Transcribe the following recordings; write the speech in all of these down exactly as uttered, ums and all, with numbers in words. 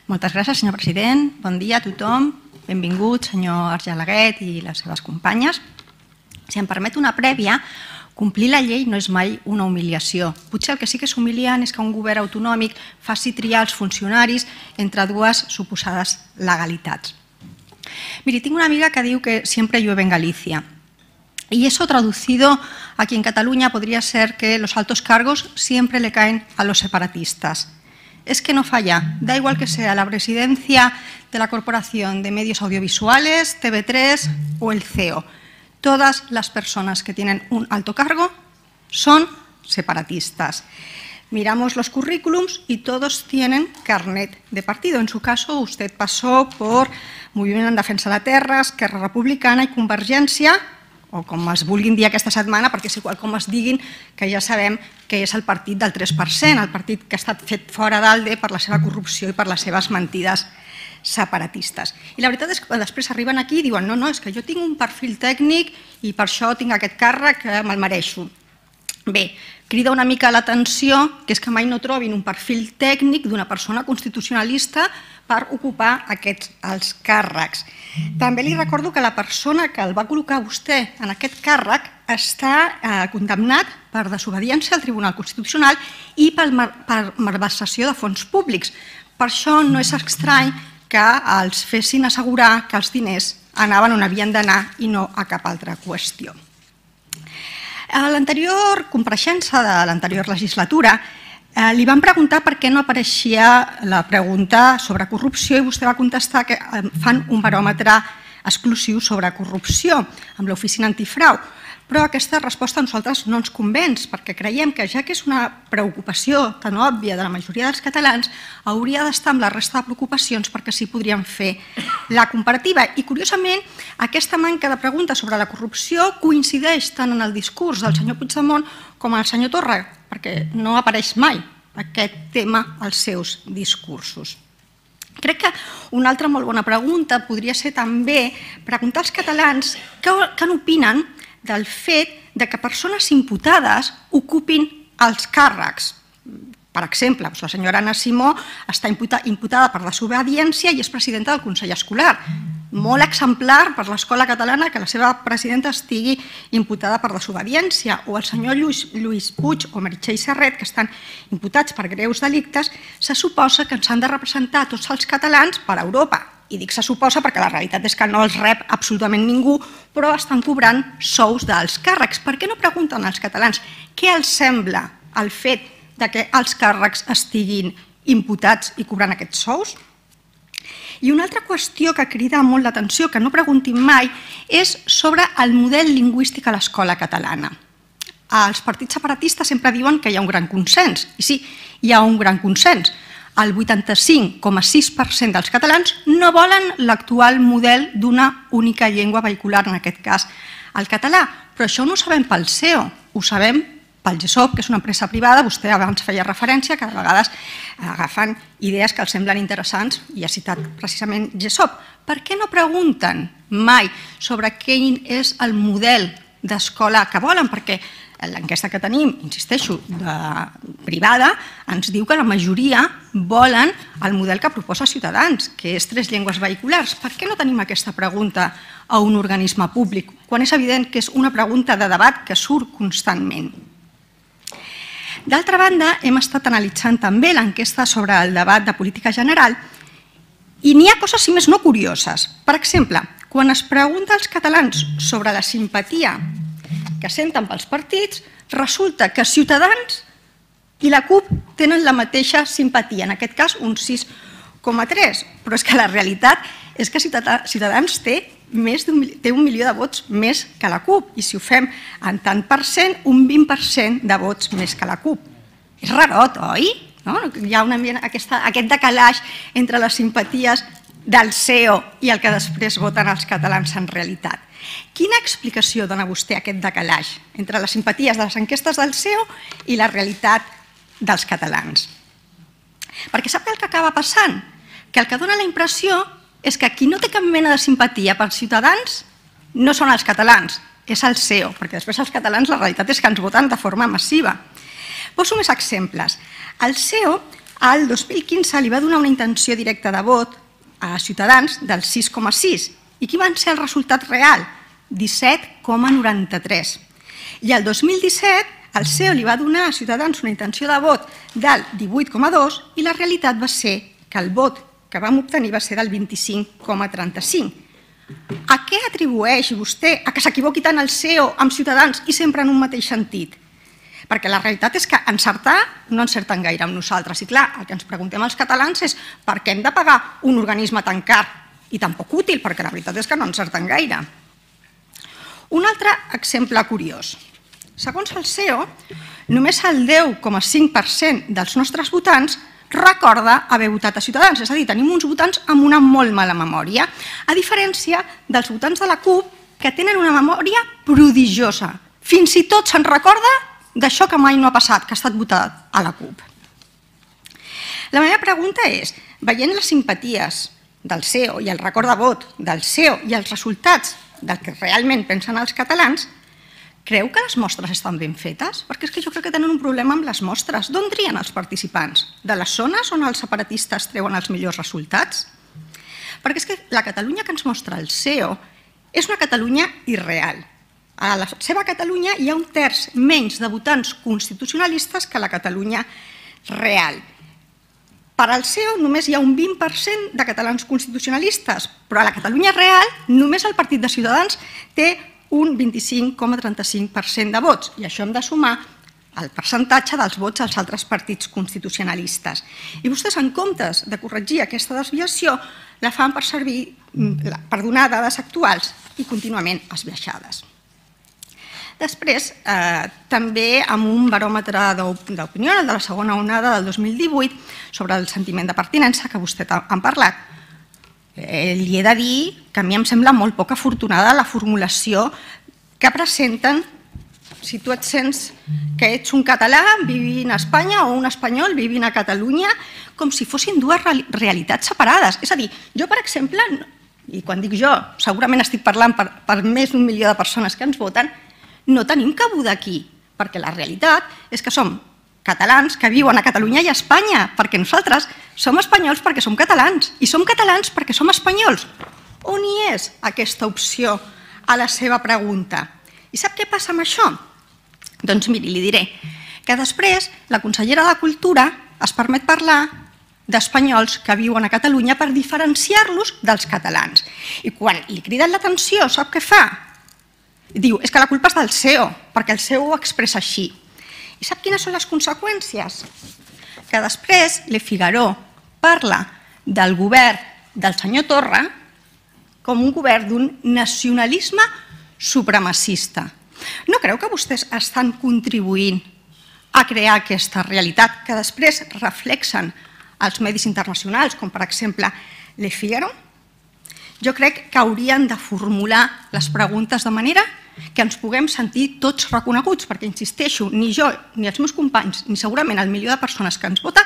Moltes gràcies, senyor president. Bon dia a tothom. Benvingut, senyor Argelaguet i les seves companyes. Si em permet una prèvia, complir la llei no és mai una humiliació. Potser el que sí que és humiliant és que un govern autonòmic faci triar els funcionaris entre dues suposades legalitats. Miri, tinc una amiga que diu que siempre llueve en Galicia. Y eso traducido aquí en Cataluña podría ser que los altos cargos siempre le caen a los separatistas. Es que no falla, da igual que sea la presidencia de la Corporación de Medios Audiovisuales, T V tres o el C E O. Todas las personas que tienen un alto cargo son separatistas. Miramos los currículums y todos tienen carnet de partido. En su caso, usted pasó por Moviment en Defensa de la Terra, Esquerra Republicana i Convergència, o com es vulguin dir aquesta setmana, perquè és igual com es diguin, que ja sabem que és el partit del tres per cent, el partit que ha estat fet fora d'Alde per la seva corrupció i per les seves mentides separatistes. I la veritat és que després arriben aquí i diuen no, no, és que jo tinc un perfil tècnic i per això tinc aquest càrrec que me'l mereixo. Bé, crida una mica l'atenció que és que mai no trobin un perfil tècnic d'una persona constitucionalista per ocupar aquests els càrrecs. També li recordo que la persona que el va col·locar vostè en aquest càrrec està condemnat per desobediència al Tribunal Constitucional i per malversació de fons públics. Per això no és estrany que els fessin assegurar que els diners anaven on havien d'anar i no a cap altra qüestió. A l'anterior compareixença de l'anterior legislatura li van preguntar per què no apareixia la pregunta sobre corrupció i vostè va contestar que fan un baròmetre exclusiu sobre corrupció amb l'oficina antifrau. Però aquesta resposta a nosaltres no ens convenç perquè creiem que ja que és una preocupació tan òbvia de la majoria dels catalans hauria d'estar amb la resta de preocupacions perquè sí podríem fer la comparativa. I curiosament aquesta manca de preguntes sobre la corrupció coincideix tant en el discurs del senyor Puigdemont com en el senyor Torra perquè no apareix mai aquest tema als seus discursos. Crec que una altra molt bona pregunta podria ser també preguntar als catalans què n'opinen del fet que persones imputades ocupin els càrrecs. Per exemple, la senyora Anna Simó està imputada per desobediència i és presidenta del Consell Escolar. Molt exemplar per l'escola catalana que la seva presidenta estigui imputada per desobediència. O el senyor Lluís Puig o Meritxell Serret, que estan imputats per greus delictes, se suposa que ens han de representar tots els catalans per Europa. I dic se suposa perquè la realitat és que no els rep absolutament ningú, però estan cobrant sous dels càrrecs. Per què no pregunten als catalans què els sembla el fet que els càrrecs estiguin imputats i cobrant aquests sous? I una altra qüestió que crida molt l'atenció, que no preguntin mai, és sobre el model lingüístic a l'escola catalana. Els partits separatistes sempre diuen que hi ha un gran consens, i sí, hi ha un gran consens. El vuitanta-cinc coma sis per cent dels catalans no volen l'actual model d'una única llengua vehicular, en aquest cas el català. Però això no ho sabem pel C E O, ho sabem pel GESOP, que és una empresa privada. Vostè abans feia referència que a vegades agafen idees que els semblen interessants i ha citat precisament GESOP. Per què no pregunten mai sobre quin és el model d'escola que volen? Perquè l'enquesta que tenim, insisteixo, privada, ens diu que la majoria volen el model que proposa Ciutadans, que és tres llengües vehiculars. Per què no tenim aquesta pregunta a un organisme públic, quan és evident que és una pregunta de debat que surt constantment? D'altra banda, hem estat analitzant també l'enquesta sobre el debat de política general i n'hi ha coses, si més no, curioses. Per exemple, quan es pregunta als catalans sobre la simpatia que senten pels partits, resulta que Ciutadans i la CUP tenen la mateixa simpatia, en aquest cas un sis coma tres, però és que la realitat és que Ciutadans té un milió de vots més que la CUP i si ho fem en tant per cent, un vint per cent de vots més que la CUP. És rarot, oi? Hi ha aquest decalaix entre les simpaties del C E O i el que després voten els catalans en realitat. Quina explicació dona vostè a aquest decalaix entre les simpaties de les enquestes del C E O i la realitat dels catalans? Perquè sap el que acaba passant? Que el que dona la impressió és que qui no té cap mena de simpatia per Ciutadans no són els catalans, és el C E O, perquè després els catalans la realitat és que ens voten de forma massiva. Poso més exemples. El C E O al dos mil quinze li va donar una intenció directa de vot a Ciutadans del sis coma sis. I quin va ser el resultat real? disset coma noranta-tres. I el dos mil disset el C E O li va donar a Ciutadans una intenció de vot del divuit coma dos i la realitat va ser que el vot que vam obtenir va ser del vint-i-cinc coma trenta-cinc. A què atribueix vostè a que s'equivoqui tant el C E O amb Ciutadans i sempre en un mateix sentit? Perquè la realitat és que encertar no encerten gaire amb nosaltres. I clar, el que ens preguntem els catalans és per què hem de pagar un organisme tan car i tan poc útil, perquè la veritat és que no encerten gaire. Un altre exemple curiós. Segons el C E O, només el deu coma cinc per cent dels nostres votants recorda haver votat a Ciutadans. És a dir, tenim uns votants amb una molt mala memòria, a diferència dels votants de la CUP que tenen una memòria prodigiosa. Fins i tot se'n recorda d'això que mai no ha passat, que ha estat votat a la CUP. La meva pregunta és, veient les simpaties del C E O i el record de vot del C E O i els resultats del que realment pensen els catalans, creu que les mostres estan ben fetes? Perquè és que jo crec que tenen un problema amb les mostres. D'on trien els participants? De les zones on els separatistes treuen els millors resultats? Perquè és que la Catalunya que ens mostra el C E O és una Catalunya irreal. A la seva Catalunya hi ha un terç menys de votants constitucionalistes que a la Catalunya real. Per al C E O només hi ha un vint per cent de catalans constitucionalistes, però a la Catalunya real només el Partit de Ciutadans té un vint-i-cinc coma trenta-cinc per cent de vots, i això hem de sumar el percentatge dels vots als altres partits constitucionalistes. I vostès, en comptes de corregir aquesta desviació, la fan per servir per donar dades actuals i contínuament esbiaixades. Després, també amb un baròmetre d'opinió, el de la segona onada del dos mil divuit, sobre el sentiment de pertinença, que vostè ha parlat, li he de dir que a mi em sembla molt poc afortunada la formulació que presenten si tu et sents que ets un català vivint a Espanya o un espanyol vivint a Catalunya, com si fossin dues realitats separades. És a dir, jo, per exemple, i quan dic jo, segurament estic parlant per més d'un milió de persones que ens voten, no tenim cabuda aquí, perquè la realitat és que som catalans que viuen a Catalunya i a Espanya, perquè nosaltres som espanyols perquè som catalans, i som catalans perquè som espanyols. On hi és aquesta opció a la seva pregunta? I sap què passa amb això? Doncs miri, li diré que després la consellera de Cultura es permet parlar d'espanyols que viuen a Catalunya per diferenciar-los dels catalans. I quan li criden l'atenció, sap què fa? Diu, és que la culpa és del C E O, perquè el C E O ho expressa així. I sap quines són les conseqüències? Que després Le Figaro parla del govern del senyor Torra com un govern d'un nacionalisme supremacista. No creu que vostès estan contribuint a crear aquesta realitat que després reflexen als medis internacionals, com per exemple Le Figaro? Jo crec que haurien de formular les preguntes de manera que ens puguem sentir tots reconeguts, perquè, insisteixo, ni jo, ni els meus companys, ni segurament el milió de persones que ens vota,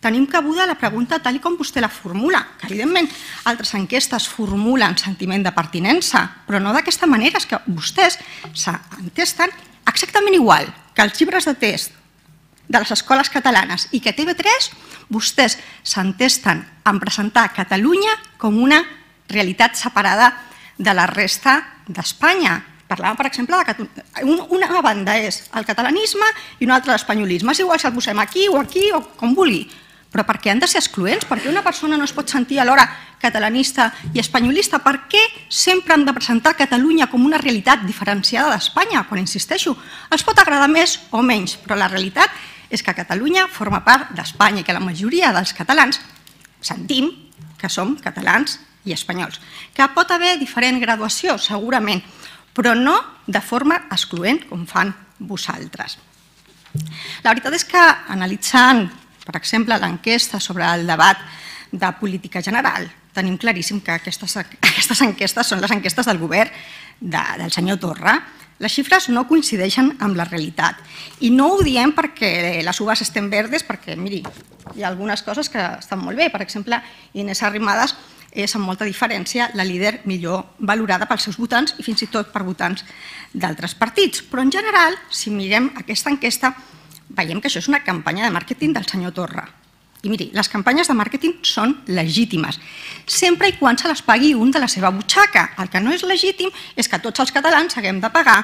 tenim cabuda la pregunta tal com vostè la formula, que evidentment altres enquestes formulen sentiment de pertinença, però no d'aquesta manera, és que vostès s'entesten exactament igual que els llibres de test de les escoles catalanes i que T V tres, vostès s'entesten en presentar Catalunya com una realitat separada de la resta d'Espanya. Parlàvem, per exemple, que una banda és el catalanisme i una altra l'espanyolisme. És igual si el posem aquí o aquí o com vulgui, però per què han de ser excloents? Per què una persona no es pot sentir alhora catalanista i espanyolista? Per què sempre hem de presentar Catalunya com una realitat diferenciada d'Espanya? Quan insisteixo, els pot agradar més o menys, però la realitat és que Catalunya forma part d'Espanya i que la majoria dels catalans sentim que som catalans i espanyols. Que pot haver diferent graduació, segurament, però no de forma excloent, com fan vosaltres. La veritat és que, analitzant, per exemple, l'enquesta sobre el debat de política general, tenim claríssim que aquestes enquestes són les enquestes del govern del senyor Torra. Les xifres no coincideixen amb la realitat. I no ho diem perquè les uvas estem verdes, perquè, miri, hi ha algunes coses que estan molt bé. Per exemple, Inés Arrimadas és amb molta diferència la líder millor valorada pels seus votants i fins i tot per votants d'altres partits. Però en general, si mirem aquesta enquesta, veiem que això és una campanya de màrqueting del senyor Torra. I miri, les campanyes de màrqueting són legítimes, sempre i quan se les pagui un de la seva butxaca. El que no és legítim és que tots els catalans haguem de pagar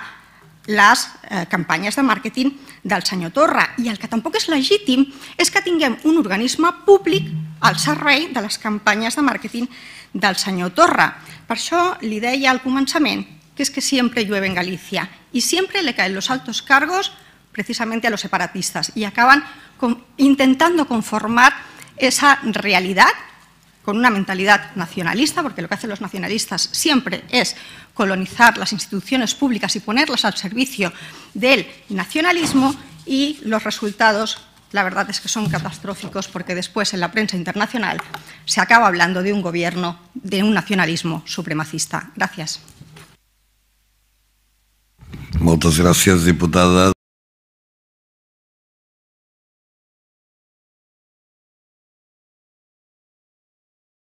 les eh, campanyes de màrqueting del senyor Torra. I el que tampoc és legítim és que tinguem un organisme públic al servei de les campanyes de màrqueting del senyor Torra. Per això li deia al començament que es que siempre llueve en Galicia y siempre le caen los altos cargos precisamente a los separatistas y acaban con, intentando conformar esa realidad con una mentalidad nacionalista, porque lo que hacen los nacionalistas siempre es colonizar las instituciones públicas y ponerlas al servicio del nacionalismo, y los resultados, la verdad es que son catastróficos, porque después en la prensa internacional se acaba hablando de un gobierno, de un nacionalismo supremacista. Gracias. Moltes gràcies, diputada.